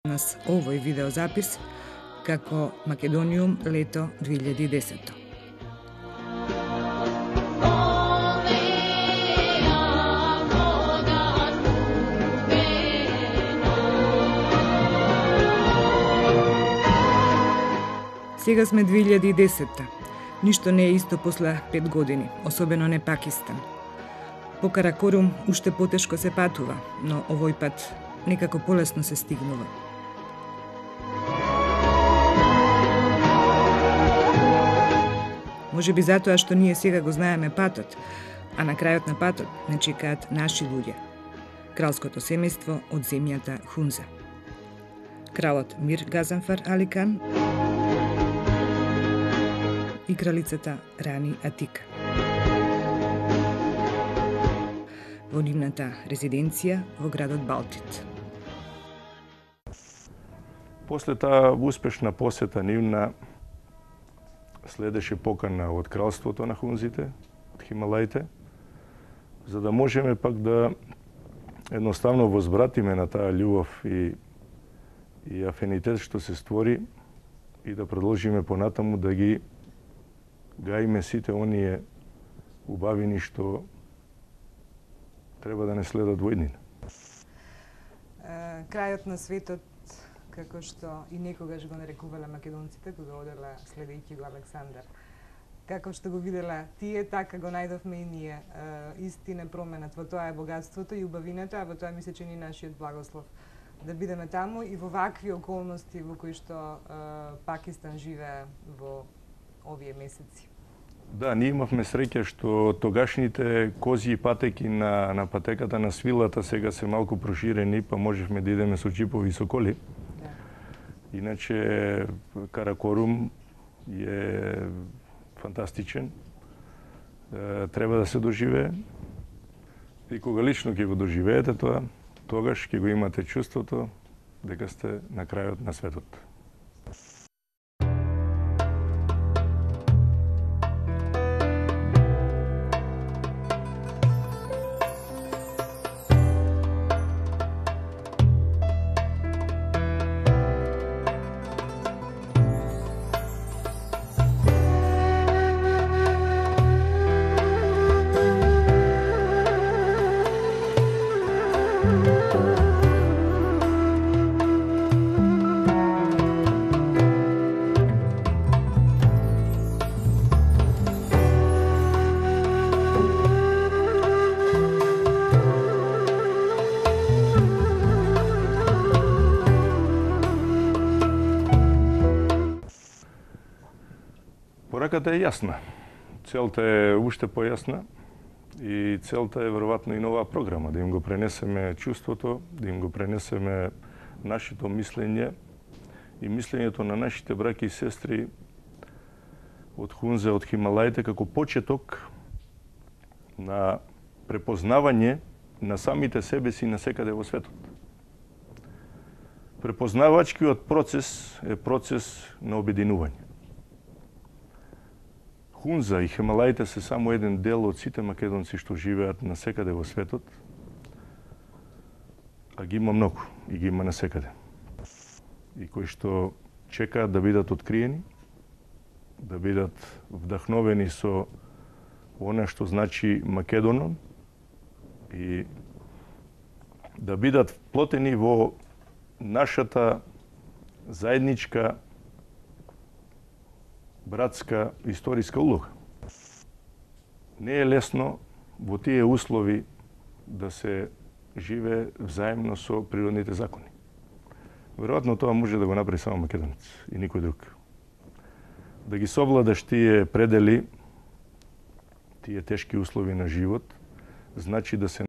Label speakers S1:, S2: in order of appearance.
S1: Нас овој видеозапис како Македониум лето 2010. Сега сме 2010. Ништо не е исто после 5 години, особено не Пакистан. По Каракорум уште потешко се патува, но овој пат некако полесно се стигнува. Може би затоа што ние сега го знаеме патот, а на крајот на патот не чекаат наши луѓе. Кралското семејство од земјата Хунза. Кралот Мир Газанфар Али Кан и кралицата Рани Атика. Во нивната резиденција во градот Балтит.
S2: После таа успешна посета нивна следеше покана од кралството на Хунзите, од Хималаите, за да можеме пак да едноставно возвратиме на таа љубов и афинитет што се створи и да продолжиме понатаму да ги гаиме сите оние убавини што треба да не следат во иднина.
S1: Крајот на светот, како што и некогаш го нарекувале македонците кога оделе следејќи го Александар. Како што го видела тие, така го најдовме и ние. Истина променат, во тоа е богатството и убавината, а во тоа ми се чини нашиот благослов. Да бидеме таму и во вакви околности во кои што Пакистан живее во овие месеци.
S2: Да, ние имавме среќа што тогашните козји патеки на патеката на свилата сега се малку проширени, па можевме да идеме со џипови со коли. Иначе Каракорум е фантастичен. Треба да се доживее. И кога лично ќе го доживеете тоа, тогаш ќе го имате чувството дека сте на крајот на светот. Пораката е јасна. Целта е уште појасна и целта е веројатно и нова програма, да им го пренесеме чувството, да им го пренесеме нашето мислење и мислењето на нашите браќи и сестри од Хунза, од Хималаите, како почеток на препознавање на самите себе си насекаде во светот. Препознавачкиот процес е процес на обединување. Хунза и Хималаите се само еден дел од сите македонци што живеат насекаде во светот, а ги има многу и ги има насекаде. И кои што чекаат да бидат откриени, да бидат вдахновени со она што значи Македонон и да бидат вплотени во нашата заедничка братска историска улога. Не е лесно во тие услови да се живее взаемно со природните закони. Веројатно тоа може да го направи само македонец и никој друг. Да ги совладаш тие предели, тие тешки услови на живот, значи да се